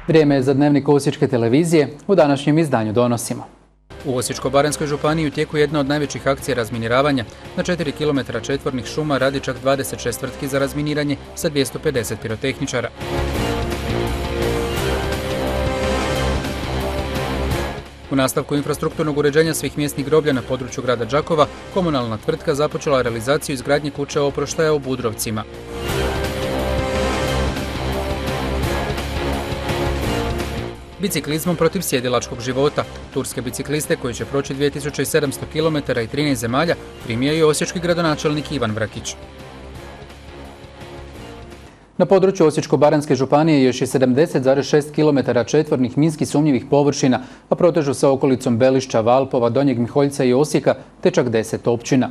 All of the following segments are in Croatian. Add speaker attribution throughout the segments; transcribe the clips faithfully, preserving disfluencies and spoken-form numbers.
Speaker 1: Vrijeme je za dnevnik Osječke televizije, u današnjem izdanju donosimo.
Speaker 2: U Osječko-baranjskoj županiji u tijeku jedna od najvećih akcija razminiravanja. Na četiri kilometra četvornih šuma radi čak dvadeset šest tvrtki za razminiranje sa dvjesto pedeset pirotehničara. U nastavku infrastrukturnog uređenja svih mjesnih groblja na području grada Đakova, komunalna tvrtka započela realizaciju izgradnje kuće oproštaja u Budrovcima. Biciklizmom protiv sjedilačkog života. Turske bicikliste koji će proći dvije tisuće sedamsto kilometara i trinaest zemalja primio je osječki gradonačelnik Ivan Vrkić.
Speaker 1: Na području Osječko-baranjske županije još je sedamdeset zarez šest kilometara četvornih minski sumnjivih površina, a protežu sa okolicom Belišća, Valpova, Donjeg Miholjca i Osijeka, te čak deset općina.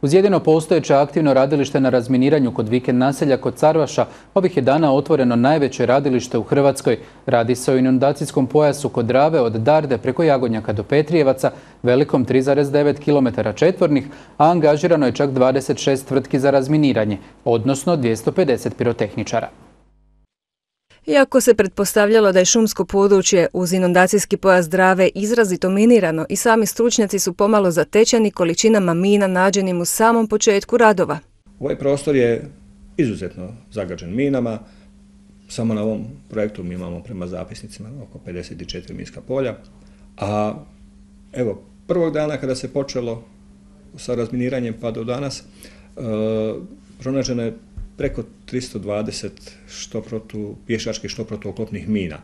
Speaker 1: Uz jedino postojeće aktivno radilište na razminiranju kod vikend naselja kod Carvaša, ovih je dana otvoreno najveće radilište u Hrvatskoj. Radi se o inundacijskom pojasu kod Drave od Darde preko Jagodnjaka do Petrijevaca, velikom tri zarez devet kilometara četvornih, a angažirano je čak dvadeset šest tvrtki za razminiranje, odnosno dvjesto pedeset pirotehničara.
Speaker 3: Iako se pretpostavljalo da je šumsko područje uz inundacijski pojas Drave izrazito minirano, i sami stručnjaci su pomalo zatečeni količinama mina nađenim u samom početku radova.
Speaker 4: Ovaj prostor je izuzetno zagađen minama. Samo na ovom projektu mi imamo prema zapisnicima oko pedeset četiri minska polja. A evo, prvog dana kada se počelo sa razminiranjem pa do danas, e, pronađeno je preko tristo dvadeset što protu pješačkih, što protuoklopnih mina.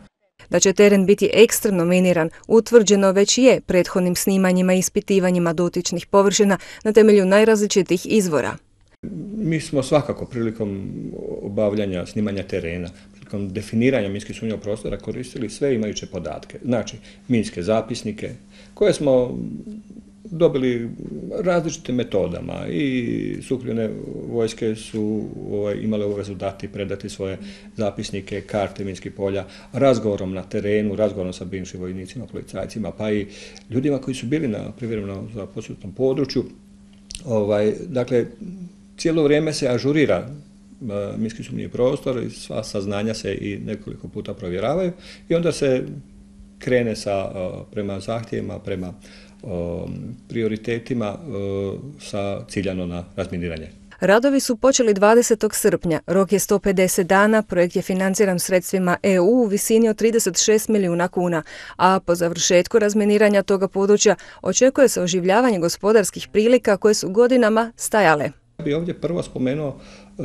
Speaker 3: Da će teren biti ekstremno miniran, utvrđeno već je prethodnim snimanjima i ispitivanjima dotičnih površina na temelju najrazličitih izvora.
Speaker 4: Mi smo svakako prilikom obavljanja snimanja terena, prilikom definiranja minski sumnjivog prostora koristili sve imajuće podatke. Znači, minske zapisnike koje smo dobili različitim metodama i sukljene vojske su ovaj, imale obavezu dati, predati svoje zapisnike, karte minskih polja, razgovorom na terenu, razgovorom sa bivšim vojnicima, policajcima, pa i ljudima koji su bili na privremeno zaposljenom području. Ovaj, dakle, cijelo vrijeme se ažurira uh, minski sumnjivi prostor i sva saznanja se i nekoliko puta provjeravaju i onda se krene sa, uh, prema zahtjevima, prema prioritetima sa ciljano na razminiranje.
Speaker 3: Radovi su počeli dvadesetog srpnja, rok je sto pedeset dana, projekt je financiran sredstvima E U u visini od trideset šest milijuna kuna, a po završetku razminiranja toga područja očekuje se oživljavanje gospodarskih prilika koje su godinama stajale.
Speaker 4: Ja bih ovdje prvo spomenuo e,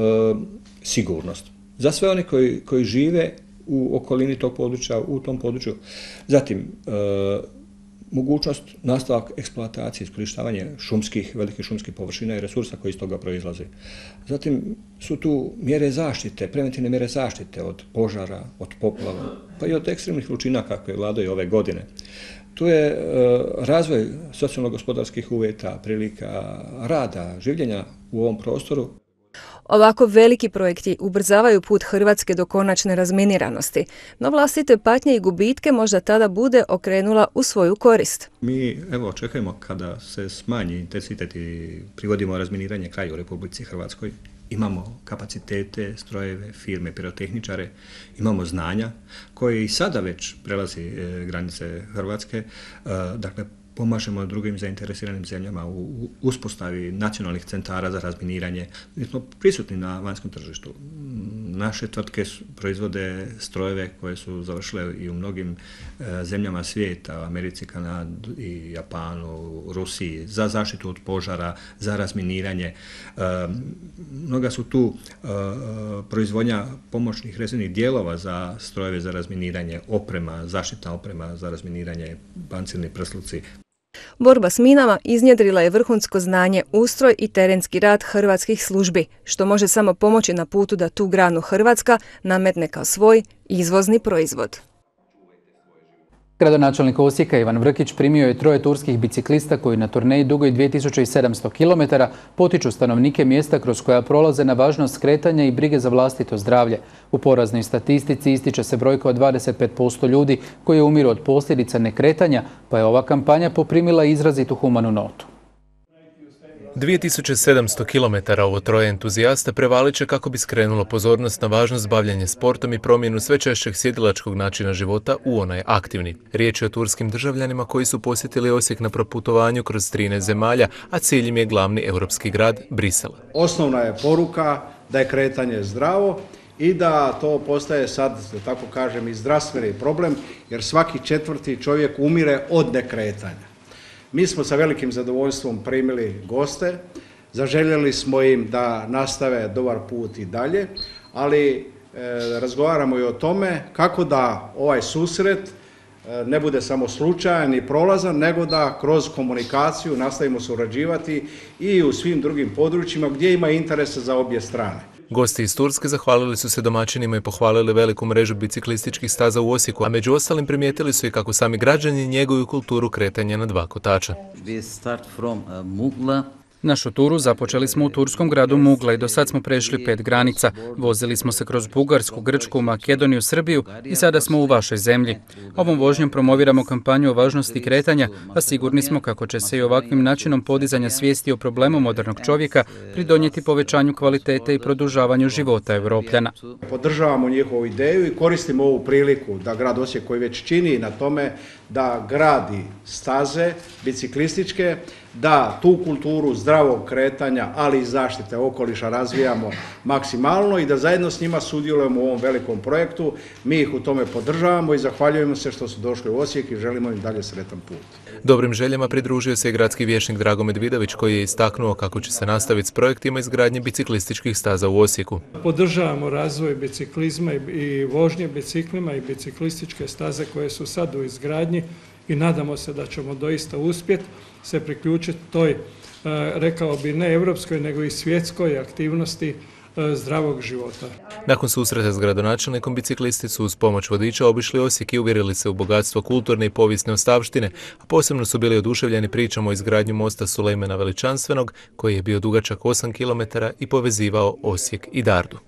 Speaker 4: sigurnost. Za sve one koji, koji žive u okolini tog područja, u tom području. Zatim, e, mogućnost nastavak eksploatacije, iskorištavanje šumskih, velikih šumskih površina i resursa koji iz toga proizlaze. Zatim su tu mjere zaštite, preventivne mjere zaštite od požara, od poplava, pa i od ekstremnih vrućina kakve vladaju ove godine. Tu je e, razvoj socijalno-gospodarskih uvjeta, prilika rada, življenja u ovom prostoru.
Speaker 3: Ovako veliki projekti ubrzavaju put Hrvatske do konačne razminiranosti, no vlastite patnje i gubitke možda tada bude okrenula u svoju korist.
Speaker 4: Mi evo očekujemo kada se smanji intenzitet i privodimo razminiranje kraju u Republici Hrvatskoj. Imamo kapacitete, strojeve, firme, pirotehničare, imamo znanja koje i sada već prelazi e, granice Hrvatske, e, dakle pomažemo drugim zainteresiranim zemljama u uspostavi nacionalnih centara za razminiranje. Mi smo prisutni na vanjskom tržištu. Naše tvrtke proizvode strojeve koje su završile i u mnogim e, zemljama svijeta, u Americi, Kanadi i Japanu, Rusiji, za zaštitu od požara, za razminiranje. E, mnoga su tu e, proizvodnja pomoćnih rezervnih dijelova za strojeve za razminiranje, oprema, zaštitna oprema za razminiranje, pancirni prsluci.
Speaker 3: Borba s minama iznjedrila je vrhunsko znanje, ustroj i terenski rad hrvatskih službi, što može samo pomoći na putu da tu granu Hrvatska nametne kao svoj izvozni proizvod.
Speaker 1: Gradonačelnik Osijeka Ivan Vrkić primio je troje turskih biciklista koji na turneji dugoj dvije tisuće sedamsto kilometara potiču stanovnike mjesta kroz koja prolaze na važnost skretanja i brige za vlastito zdravlje. U poraznoj statistici ističe se brojka od dvadeset pet posto ljudi koji umiru od posljedica nekretanja, pa je ova kampanja poprimila izrazitu humanu notu.
Speaker 5: dvije tisuće sedamsto kilometara ovo troje entuzijasta prevalit će kako bi skrenulo pozornost na važnost bavljanja sportom i promjenu sve češćeg sjedilačkog načina života u onaj aktivni. Riječ je o turskim državljanima koji su posjetili Osijek na proputovanju kroz trinaest zemalja, a cilj im je glavni europski grad Brisel.
Speaker 6: Osnovna je poruka da je kretanje zdravo i da to postaje sad, da tako kažem, i zdravstveni problem, jer svaki četvrti čovjek umire od nekretanja. Mi smo sa velikim zadovoljstvom primili goste, zaželjeli smo im da nastave dobar put i dalje, ali e, razgovaramo i o tome kako da ovaj susret e, ne bude samo slučajan i prolazan, nego da kroz komunikaciju nastavimo surađivati i u svim drugim područjima gdje ima interesa za obje strane.
Speaker 5: Gosti iz Turske zahvalili su se domaćinima i pohvalili veliku mrežu biciklističkih staza u Osijeku, a među ostalim primijetili su i kako sami građani njeguju kulturu kretanja na dva kotača.
Speaker 2: Našu turu započeli smo u turskom gradu Mugla i do sad smo prešli pet granica. Vozili smo se kroz Bugarsku, Grčku, Makedoniju, Srbiju i sada smo u vašoj zemlji. Ovom vožnjom promoviramo kampanju o važnosti kretanja, a sigurni smo kako će se i ovakvim načinom podizanja svijesti o problemu modernog čovjeka pridonijeti povećanju kvalitete i produžavanju života Europljana.
Speaker 6: Podržavamo njihovu ideju i koristimo ovu priliku da grad Osijek, koji već čini na tome da gradi staze biciklističke, da tu kulturu zdravog kretanja, ali i zaštite okoliša razvijamo maksimalno i da zajedno s njima sudjelujemo u ovom velikom projektu. Mi ih u tome podržavamo i zahvaljujemo se što su došli u Osijek i želimo im dalje sretan put.
Speaker 5: Dobrim željama pridružio se i gradski vijećnik Drago Medvidović, koji je istaknuo kako će se nastaviti s projektima izgradnje biciklističkih staza u Osijeku.
Speaker 7: Podržavamo razvoj biciklizma i vožnje biciklima i biciklističke staze koje su sad u izgradnji i nadamo se da ćemo doista uspjeti se priključiti toj, rekao bi, ne europskoj, nego i svjetskoj aktivnosti zdravog života.
Speaker 5: Nakon susreta s gradonačelnikom, biciklisti su uz pomoć vodiča obišli Osijek i uvjerili se u bogatstvo kulturne i povijesne ostavštine, a posebno su bili oduševljeni pričom o izgradnju mosta Sulejmana Veličanstvenog, koji je bio dugačak osam kilometara i povezivao Osijek i Dardu.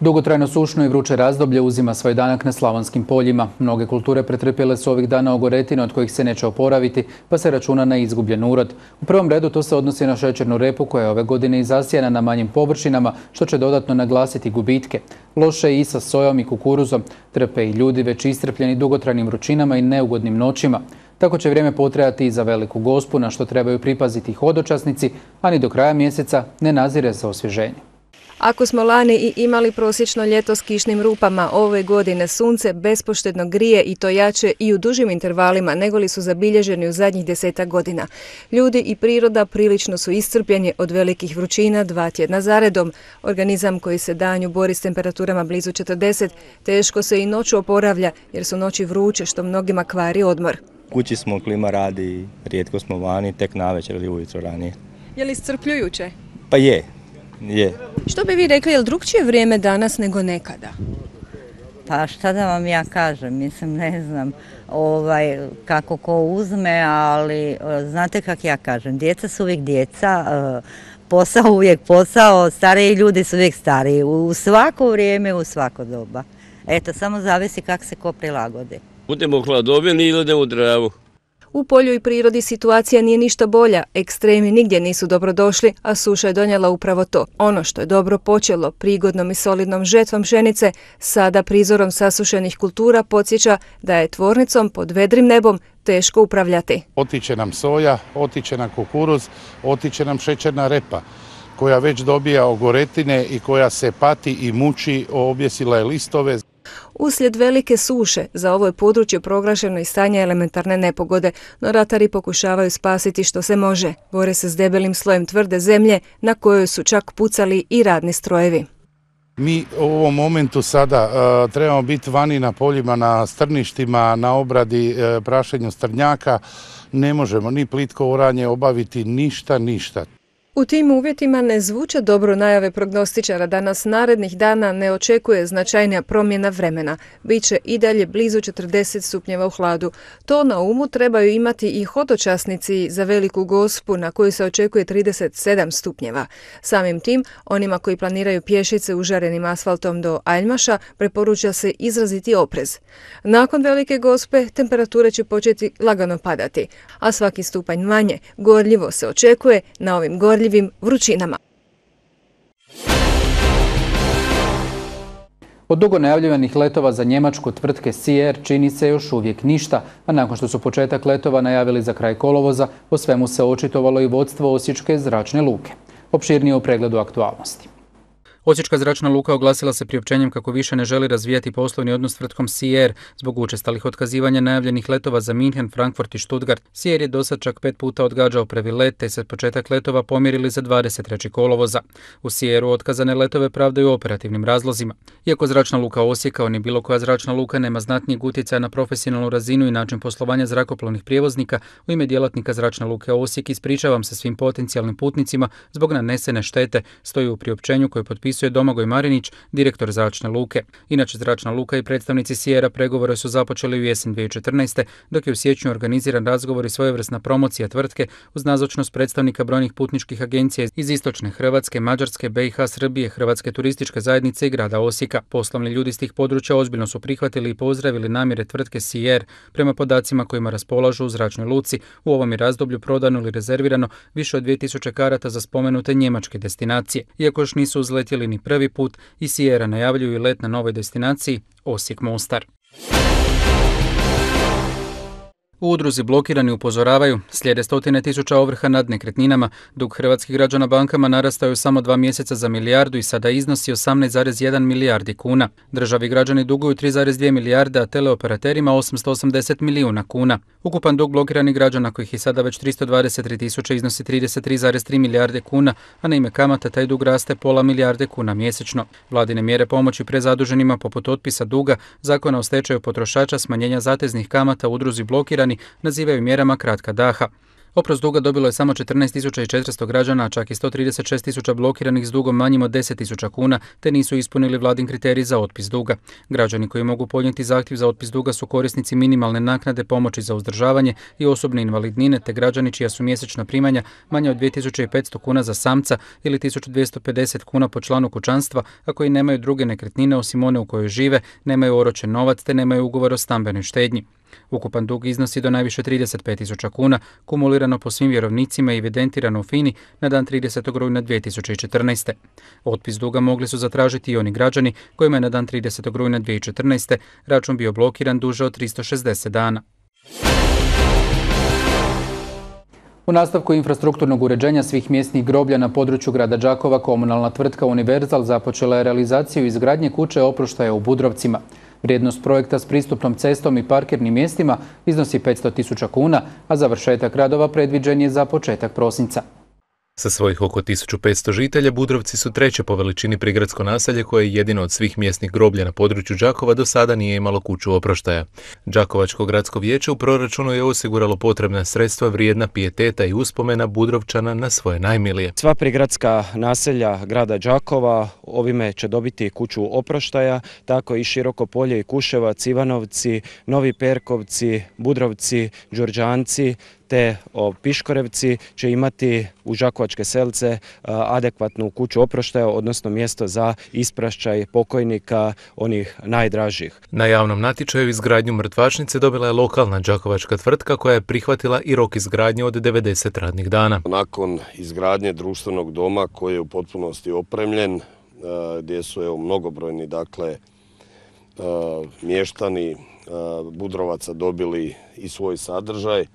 Speaker 1: Dugotrajno sušno i vruće razdoblje uzima svoj danak na slavonskim poljima. Mnoge kulture pretrpjele su ovih dana ogoretine od kojih se neće oporaviti, pa se računa na izgubljen urod. U prvom redu to se odnosi na šećernu repu koja je ove godine i zasijana na manjim površinama, što će dodatno naglasiti gubitke. Loše je i sa sojom i kukuruzom. Trpe i ljudi već istrpljeni dugotrajnim vrućinama i neugodnim noćima. Tako će vrijeme potrajati i za Veliku Gospu, na što trebaju pripaziti hodočasnici, a ni do kraja mjeseca ne nazire se osvježenje.
Speaker 3: Ako smo lani i imali prosječno ljeto s kišnim rupama, ove godine sunce bespoštedno grije i to jače i u dužim intervalima nego li su zabilježeni u zadnjih desetak godina. Ljudi i priroda prilično su iscrpljeni od velikih vrućina dva tjedna zaredom. Organizam koji se danju bori s temperaturama blizu četrdeset, teško se i noću oporavlja jer su noći vruće što mnogima kvari odmor.
Speaker 8: Kući smo, klima radi, rijetko smo vani, tek navečer ili ujutro ranije.
Speaker 3: Je li iscrpljujuće?
Speaker 8: Pa je. Je.
Speaker 3: Što bi vi rekli, je li drugčije vrijeme danas nego nekada?
Speaker 9: Pa šta da vam ja kažem, mislim ne znam ovaj, kako ko uzme, ali znate kako ja kažem, djeca su uvijek djeca, posao uvijek posao, stariji ljudi su uvijek stariji, u svako vrijeme, u svako doba. Eto, samo zavisi kako se ko prilagodi.
Speaker 10: Budemo u hladovini ili idemo u dravu.
Speaker 3: U polju i prirodi situacija nije ništa bolja, ekstremi nigdje nisu dobrodošli, a suša je donijela upravo to. Ono što je dobro počelo prigodnom i solidnom žetvom pšenice, sada prizorom sasušenih kultura podsjeća da je tvornicom pod vedrim nebom teško upravljati.
Speaker 11: Otiče nam soja, otiče nam kukuruz, otiče nam šećerna repa, koja već dobija ogoretine i koja se pati i muči, objesila je listove.
Speaker 3: Uslijed velike suše za ovo je područje proglašeno i stanje elementarne nepogode, no ratari pokušavaju spasiti što se može. Bore se s debelim slojem tvrde zemlje na kojoj su čak pucali i radni strojevi.
Speaker 11: Mi u ovom momentu sada uh, trebamo biti vani na poljima, na strništima, na obradi, uh, prašenju strnjaka. Ne možemo ni plitko oranje obaviti, ništa, ništa.
Speaker 3: U tim uvjetima ne zvuče dobro najave prognostičara da nas narednih dana ne očekuje značajnija promjena vremena. Biće i dalje blizu četrdeset stupnjeva u hladu. To na umu trebaju imati i hodočasnici za Veliku Gospu na koju se očekuje trideset sedam stupnjeva. Samim tim, onima koji planiraju pješice užarenim asfaltom do Aljmaša preporuča se izraziti oprez. Nakon Velike Gospe temperature će početi lagano padati, a svaki stupanj manje gorljivo se očekuje na ovim gorljivim vrućinama.
Speaker 1: Od dugo najavljivanih letova za njemačku tvrtke Sier čini se još uvijek ništa, a nakon što su početak letova najavili za kraj kolovoza, o svemu se očitovalo i vodstvo Osječke zračne luke. Opširnije u pregledu aktualnosti.
Speaker 2: Osječka zračna luka oglasila se priopćenjem kako više ne želi razvijati poslovni odnos s tvrtkom Sier zbog učestalih otkazivanja najavljenih letova za Minhen, Frankfurt i Stuttgart. Sier je dosad čak pet puta odgađao prvi let, te se početak letova pomjerili za dvadeset trećeg kolovoza. U Sieru otkazane letove pravdaju operativnim razlozima. Iako zračna luka Osijek kao ni bilo koja zračna luka nema znatnijeg utjecaja na profesionalnu razinu i način poslovanja zrakoplovnih prijevoznika, u ime djelatnika zračne luke Osijek ispričavam se svim potencijalnim putnicima zbog nanesene štete, stoji u priopćenju koje potpisuje Domagoj Marinić, direktor zračne luke. Inače, zračna luka i predstavnici Siera pregovore su započeli u jesen dvije tisuće četrnaeste. dok je u siječnju organiziran razgovor i svojevrsna promocija tvrtke uz nazočnost predstavnika brojnih putničkih agencija iz istočne Hrvatske, Mađarske, B i H, Srbije, Hrvatske turističke zajednice i grada Osijeka. Poslovni ljudi iz tih područja ozbiljno su prihvatili i pozdravili namjere tvrtke Sier. Prema podacima kojima raspolažu u zračnoj luci, u ovom je razdoblju prodano ili rezervirano više od dvije tisuće karata za spomenute njemačke destinacije. Iako još nisu uzletjeli ni prvi put, i Siera najavljuju let na novoj destinaciji Osijek-Mostar. U udruzi Blokirani upozoravaju, slijede stotine tisuća ovrha nad nekretninama, dug hrvatskih građana bankama narastao je samo dva mjeseca za milijardu i sada iznosi osamnaest zarez jedan milijardi kuna. Državi građani duguju tri zarez dvije milijarde, a teleoperaterima osamsto osamdeset milijuna kuna. Ukupan dug blokiranih građana, kojih je sada već tristo dvadeset tri tisuće, iznosi trideset tri zarez tri milijarde kuna, a na ime kamata taj dug raste pola milijarde kuna mjesečno. Vladine mjere pomoći prezaduženima poput otpisa duga, zakona o stečaju potrošača, smanjenja zateznih kamata u udruzi Blokirani nazivaju mjerama kratka daha. Oprost duga dobilo je samo četrnaest tisuća četiristo građana, a čak i sto trideset šest tisuća blokiranih s dugom manjim od deset tisuća kuna, te nisu ispunili vladin kriterij za otpis duga. Građani koji mogu podnijeti zahtjev za otpis duga su korisnici minimalne naknade, pomoći za uzdržavanje i osobne invalidnine, te građani čija su mjesečna primanja manja od dvije tisuće petsto kuna za samca ili tisuću dvjesto pedeset kuna po članu kućanstva, a koji nemaju druge nekretnine osim one u kojoj žive, nemaju oročen novac te nemaju ugovor o stambenoj štednji. Ukupan dug iznosi do najviše trideset pet tisuća kuna, kumulirano po svim vjerovnicima i evidentirano u FINI na dan tridesetog rujna dvije tisuće četrnaeste. Otpis duga mogli su zatražiti i oni građani kojima je na dan tridesetog rujna dvije tisuće četrnaeste račun bio blokiran duže od tristo šezdeset dana.
Speaker 1: U nastavku infrastrukturnog uređenja svih mjesnih groblja na području grada Đakova, komunalna tvrtka Univerzal započela je realizaciju izgradnje kuće oproštaja u Budrovcima. Vrijednost projekta s pristupnom cestom i parkirnim mjestima iznosi petsto tisuća kuna, a završetak radova predviđen je za početak prosinca.
Speaker 5: Sa svojih oko tisuću petsto žitelja, Budrovci su treće po veličini prigradsko naselje koje je jedino od svih mjesnih groblja na području Đakova do sada nije imalo kuću oproštaja. Đakovačko gradsko vijeće u proračunu je osiguralo potrebna sredstva vrijedna pijeteta i uspomena Budrovčana na svoje najmilije.
Speaker 12: Sva prigradska naselja grada Đakova ovime će dobiti kuću oproštaja, tako i Široko Polje i Kuševac, Ivanovci, Novi Perkovci, Budrovci, Đurđanci, te Piškorevci će imati u Đakovačke Selce adekvatnu kuću oproštaja, odnosno mjesto za isprašćaj pokojnika, onih najdražih.
Speaker 5: Na javnom natječaju izgradnju mrtvačnice dobila je lokalna đakovačka tvrtka koja je prihvatila i rok izgradnje od devedeset radnih dana.
Speaker 13: Nakon izgradnje društvenog doma koji je u potpunosti opremljen, gdje su evo, mnogobrojni dakle, mještani Budrovaca dobili i svoj sadržaj,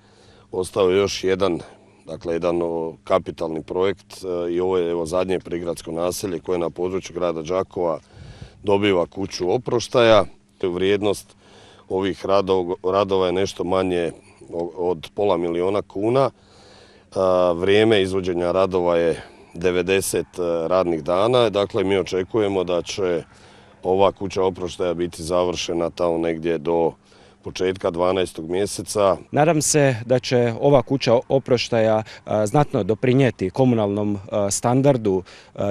Speaker 13: ostao je još jedan, dakle, jedan kapitalni projekt i ovo je evo, zadnje prigradsko naselje koje na području grada Đakova dobiva kuću oproštaja. Vrijednost ovih radova, radova je nešto manje od pola miliona kuna. Vrijeme izvođenja radova je devedeset radnih dana. Dakle, mi očekujemo da će ova kuća oproštaja biti završena tamo negdje do početka dvanaestog mjeseca.
Speaker 12: Nadam se da će ova kuća oproštaja znatno doprinijeti komunalnom standardu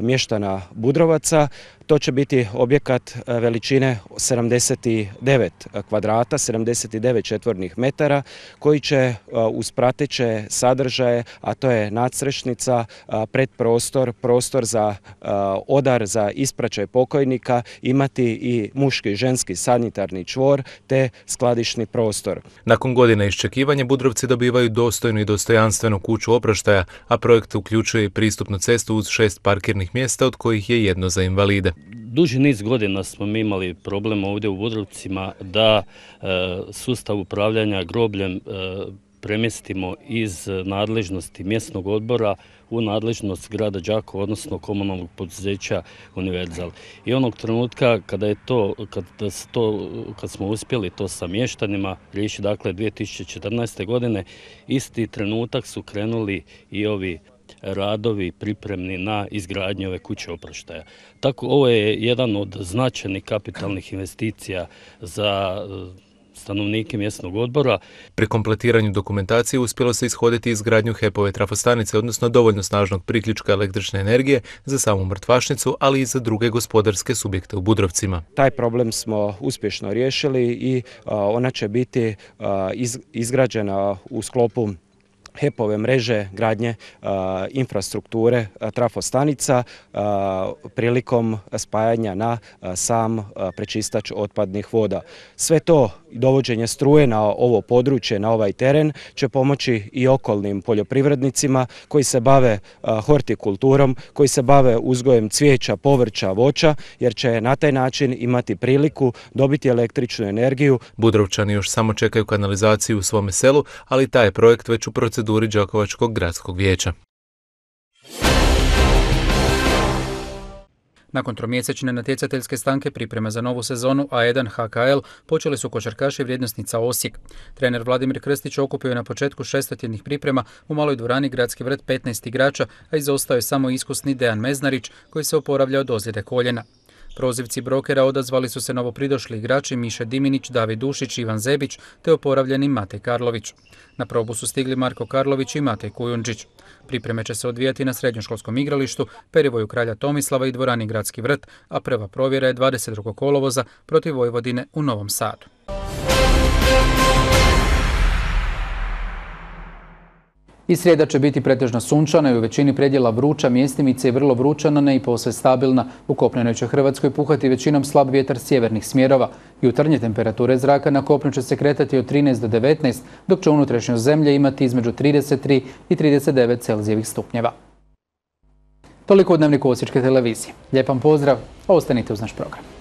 Speaker 12: mještana Budrovaca. To će biti objekat veličine sedamdeset devet kvadrata, sedamdeset devet četvornih metara, koji će uz prateće sadržaje, a to je nadstrešnica, predprostor, prostor za odar, za ispraćaj pokojnika, imati i muški i ženski sanitarni čvor te skladišni prostor.
Speaker 5: Nakon godine iščekivanja Budrovci dobivaju dostojnu i dostojanstvenu kuću oproštaja, a projekt uključuje i pristupnu cestu uz šest parkirnih mjesta, od kojih je jedno za invalide.
Speaker 14: Duži niz godina smo mi imali problem ovdje u Budrovcima da e, sustav upravljanja grobljem e, premjestimo iz nadležnosti mjesnog odbora u nadležnost grada Đakova, odnosno komunalnog poduzeća Univerzal. I onog trenutka kada je to, kad, to, kad smo uspjeli to sa mještanima riješiti, dakle dvije tisuće četrnaeste. godine, isti trenutak su krenuli i ovi radovi pripremni na izgradnju ove kuće oproštaja. Tako, ovo je jedan od značajnih kapitalnih investicija za stanovnike mjesnog odbora.
Speaker 5: Pri kompletiranju dokumentacije uspjelo se ishoditi izgradnju H E P-ove trafostanice, odnosno dovoljno snažnog priključka električne energije za samu mrtvašnicu, ali i za druge gospodarske subjekte u Budrovcima.
Speaker 12: Taj problem smo uspješno riješili i ona će biti izgrađena u sklopu H E P-ove mreže gradnje a, infrastrukture a, trafostanica a, prilikom spajanja na a, sam a, prečistač otpadnih voda. Sve to dovođenje struje na ovo područje, na ovaj teren, će pomoći i okolnim poljoprivrednicima koji se bave a, hortikulturom, koji se bave uzgojem cvijeća, povrća, voća, jer će na taj način imati priliku dobiti električnu energiju.
Speaker 5: Budrovčani još samo čekaju kanalizaciju u svome selu, ali taj je projekt već u proceduri Đakovačkog gradskog vijeća.
Speaker 2: Nakon tromjesečne natjecateljske stanke priprema za novu sezonu A jedan H K L počeli su košarkaši Vrijednosnica Osijek. Trener Vladimir Krstić okupio je na početku šestotjednih priprema u maloj dvorani Gradski vrt petnaest igrača, a izostao je samo iskusni Dejan Meznarić koji se oporavlja od ozljede koljena. Prozivci brokera odazvali su se novopridošli igrači Miše Diminić, David Dušić, Ivan Zebić te oporavljeni Matej Karlović. Na probu su stigli Marko Karlović i Matej Kujundžić. Pripreme će se odvijati na srednjoškolskom igralištu, Perivoju Kralja Tomislava i dvorani Gradski vrt, a prva provjera je dvadeset drugog kolovoza protiv Vojvodine u Novom Sadu.
Speaker 1: I srijeda će biti pretežno sunčana i u većini predjela vruća, mjestimice i vrlo vrućana, ne i posve stabilna. U kopnenoj će Hrvatskoj puhati većinom slab vjetar sjevernih smjerova. Jutarnje temperature zraka na kopnu će se kretati od trinaest do devetnaest, dok će unutrašnjost zemlje imati između trideset tri i trideset devet Celzijevih stupnjeva. Toliko u Dnevniku Osječke televizije. Lijep vam pozdrav, ostanite uz naš program.